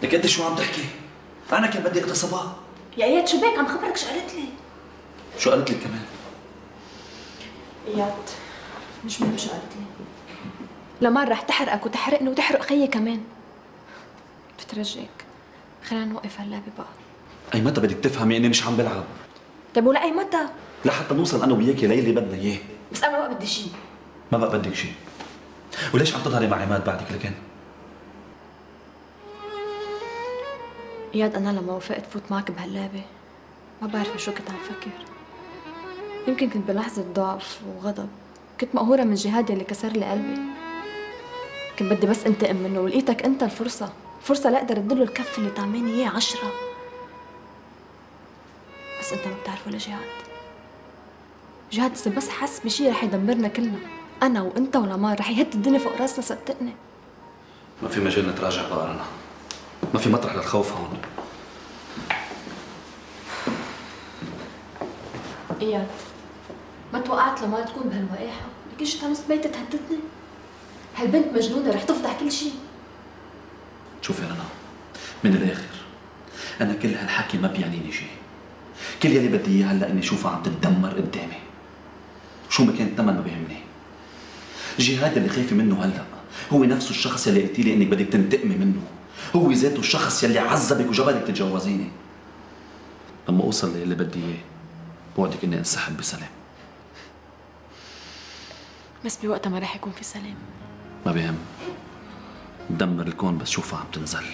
لك انت شو عم تحكي؟ انا كان بدي اغتصبها. يا اياد شو بك؟ عم خبرك شو قالت لي. شو قالت لك كمان؟ اياد مش مهم شو قالت لي. لمار رح تحرقك وتحرقني وتحرق خيي كمان. بترجيك خلينا نوقف هاللعبة بقى. اي متى بدك تفهمي اني مش عم بلعب؟ طيب ولأي متى؟ لحتى نوصل انا وياكي للي بدنا اياه. بس انا ما بدي شيء. ما بقى بدك شيء. وليش عم تظهري مع عماد بعدك لكن؟ اياد انا لما وافقت فوت معك بهاللعبة ما بعرف شو كنت عم فكر. يمكن كنت بلحظة ضعف وغضب، كنت مقهورة من جهاد يلي كسر لي قلبي. كنت بدي بس انتقم منه ولقيتك انت الفرصة لاقدر ادله الكف اللي طعماني اياه 10. بس انت ما بتعرف ولا جهاد اذا بس حس بشي رح يدمرنا كلنا، انا وانت ولمار رح يهد الدنيا فوق راسنا صدقني. ما في مجال نتراجع بقى رنا، ما في مطرح للخوف هون. اياد ما توقعت لما تكون بهالوقاحة، لك ايش تعمل بيتي تهددني؟ هالبنت مجنونة رح تفضح كل شيء. شوفي رنا، من الاخر انا كل هالحكي ما بيعنيني شيء. كل يلي بدي اياه هلا اني اشوفها عم تتدمر قدامي. شو ما كان الثمن ما بيهمني. جهاد اللي خايفه منه هلا هو نفسه الشخص يلي قلتي لي انك بدك تنتقمي منه، هو ذاته الشخص يلي عذبك وجبرك تتجوزيني. لما اوصل للي بدي اياه بوعدك اني انسحب بسلام. بس بوقتها ما رح يكون في سلام. ما بيهم، بدمر الكون بس شوفها عم تنزل.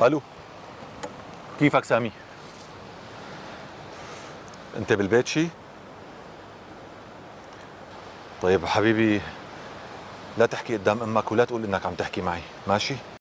الو، كيفك سامي؟ انت بالبيت شي؟ طيب حبيبي لا تحكي قدام امك ولا تقول انك عم تحكي معي، ماشي؟